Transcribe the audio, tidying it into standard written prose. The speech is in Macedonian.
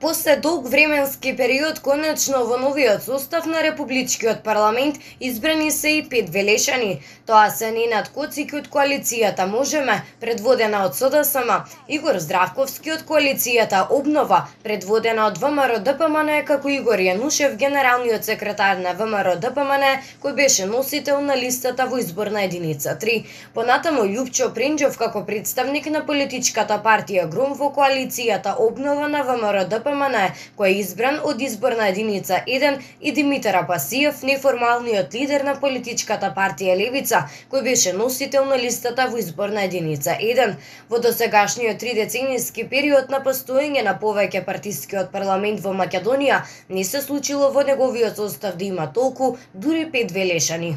После долг временски период, конечно во новиот состав на Републичкиот парламент избрани се и 5 велешани. Тоа се Ненад Коцики од коалицијата Можеме, предводена од СДСМ, Игор Здравковски од коалицијата Обнова, предводена од ВМРО-ДПМН, како Игор Јанушев, генералниот секретар на ВМРО-ДПМН, кој беше носител на листата во изборна единица 3. Понатаму Љупчо Пренџов како представник на политичката партија Гром во коалицијата Обнова на ВМРО-ДПМН, кој е избран од изборна единица 1, и Димитар Апасиев, неформалниот лидер на политичката партија Левица, кој беше носител на листата во изборна единица 1. Во досегашниот 3-деценијски период на постоење на повеќе партискиот парламент во Македонија, не се случило во неговиот состав да има толку, дури 5 велешани.